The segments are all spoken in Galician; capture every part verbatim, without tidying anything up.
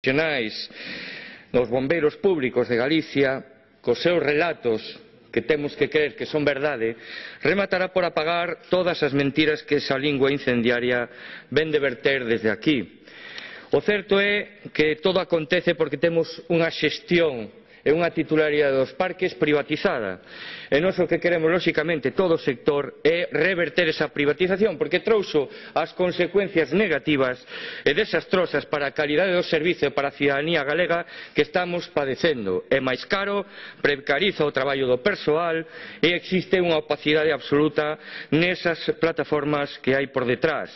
profesionais dos bombeiros públicos de Galicia, cos seus relatos, que temos que crer que son verdade, rematará por apagar todas as mentiras que esa lingua incendiaria ven de verter desde aquí. O certo é que todo acontece porque temos unha xestión e unha titularidade dos parques privatizada. E nós o que queremos, lóxicamente, todo o sector é reverter esa privatización, porque trouxo as consecuencias negativas e desastrosas para a calidade do servizo e para a cidadanía galega que estamos padecendo. É máis caro, precariza o traballo do persoal e existe unha opacidade absoluta nesas plataformas que hai por detrás.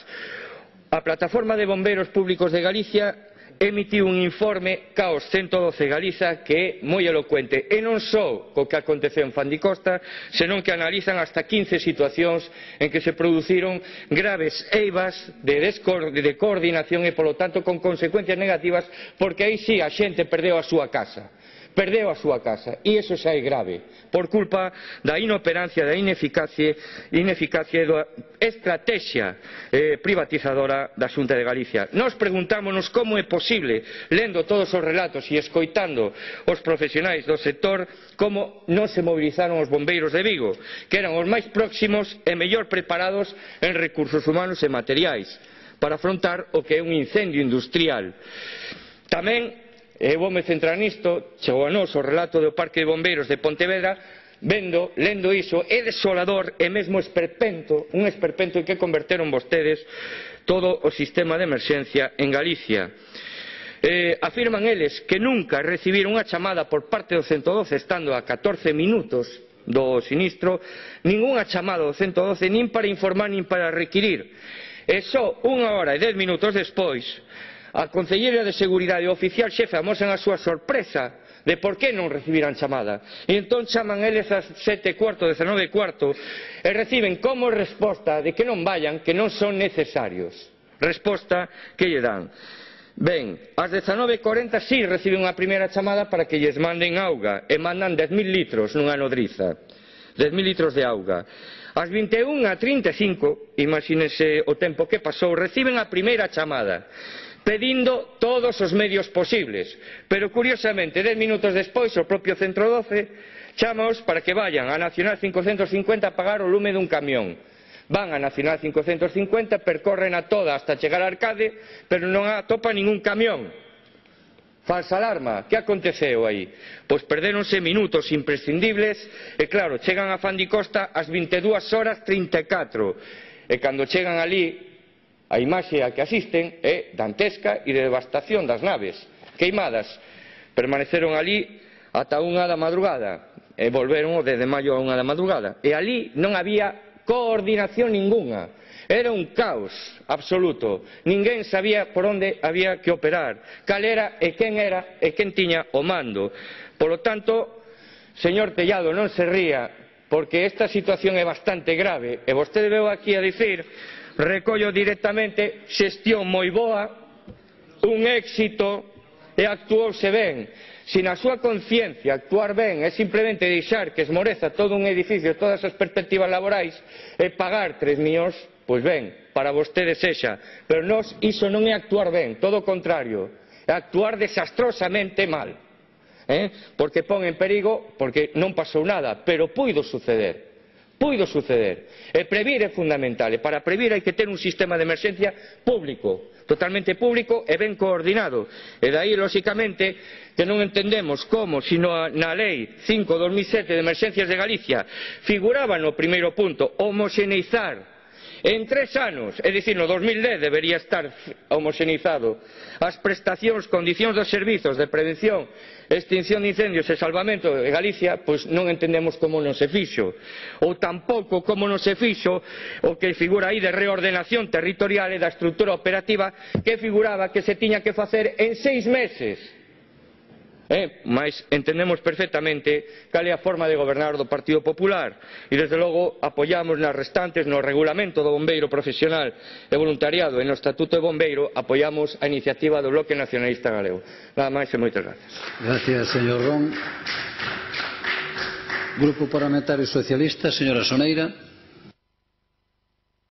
A Plataforma de Bombeiros Públicos de Galicia emitiu un informe Caos ciento doce Galiza que é moi elocuente, e non só co que aconteceu en Fandicosta, senón que analizan hasta quince situacións en que se produciron graves eivas de, de coordinación e, polo tanto, con consecuencias negativas, porque aí sí a xente perdeu a súa casa. Perdeu a súa casa, e iso xa é grave, por culpa da inoperancia, da ineficacia, ineficacia e da estrategia eh, privatizadora da Xunta de Galicia. Nós preguntámonos como é posible, lendo todos os relatos e escoitando os profesionais do sector, como non se movilizaron os bombeiros de Vigo, que eran os máis próximos e mellor preparados en recursos humanos e materiais para afrontar o que é un incendio industrial. Tamén, e voume centrar nisto, chegou a nós o relato do Parque de Bombeiros de Pontevedra, vendo, lendo iso, é desolador e mesmo esperpento, un esperpento en que converteron vostedes todo o sistema de emerxencia en Galicia. Eh, afirman eles que nunca recibiron unha chamada por parte do ciento doce estando a catorce minutos do sinistro, ningunha chamada do ciento doce nin para informar nin para requirir. E só unha hora e dez minutos despois, a Concelleira de Seguridade e o oficial xefe amosan a súa sorpresa de por que non recibiran chamada. E entón chaman eles ás sete e cuarto, dezanove e cuarto, e reciben como resposta de que non vayan, que non son necesarios. Resposta que lle dan. Ben, ás dezanove e corenta sí reciben unha primeira chamada para que lles manden auga, e mandan dez mil litros nunha nodriza. dez mil litros de auga. Ás vinte e unha e trinta e cinco, imagínense o tempo que pasou, reciben a primeira chamada, pedindo todos os medios posibles, pero curiosamente dez minutos despois o propio centro doce chamaos para que vayan á Nacional cincocentos cincuenta a pagar o lume dun camión. Van á Nacional cincocentos cincuenta, percorren a toda hasta chegar a Arcade, pero non atopa ningún camión. Falsa alarma, que aconteceu aí? Pois perdéronse minutos imprescindibles e claro, chegan a Fandicosta ás vinte e dúas horas trinta e catro, e cando chegan ali a imaxe a que asisten é dantesca e de devastación das naves queimadas. Permaneceron ali ata unha da madrugada e volveron o dez de maio a unha da madrugada, e ali non había coordinación ningunha, era un caos absoluto, ninguén sabía por onde había que operar, cal era e quen era e quen tiña o mando. Polo tanto, señor Tellado, non se ría, porque esta situación é bastante grave, e vostede veu aquí a dicir, recollo directamente, xestión moi boa, un éxito e actuouse ben. Se na súa conciencia actuar ben é simplemente deixar que esmoreza todo un edificio, todas as perspectivas laborais e pagar tres millóns, pois ben, para vostedes sexa, pero nós iso non é actuar ben, todo o contrario, é actuar desastrosamente mal, eh? Porque pon en perigo, porque non pasou nada, pero puido suceder. Puido suceder. E previr é fundamental, e para previr hai que ter un sistema de emerxencia público, totalmente público e ben coordinado. E dai, lóxicamente, que non entendemos como, sino na Lei cinco barra dos mil sete de Emerxencias de Galicia figuraba no primeiro punto homoxeneizar en tres anos, é dicir, no dos mil dez debería estar homoxeneizado as prestacións, condicións dos servizos de prevención, extinción de incendios e salvamento de Galicia, pois non entendemos como non se fixo. Ou tampouco como non se fixo o que figura aí de reordenación territorial e da estrutura operativa, que figuraba que se tiña que facer en seis meses. Eh, mas entendemos perfectamente cal é a forma de gobernar do Partido Popular e desde logo apoiamos nas restantes, no regulamento do bombeiro profesional e voluntariado e no estatuto de bombeiro, apoiamos a iniciativa do Bloque Nacionalista Galego. Nada máis e moitas gracias. Gracias, señor Ron. Grupo Parlamentario Socialista, señora Soneira.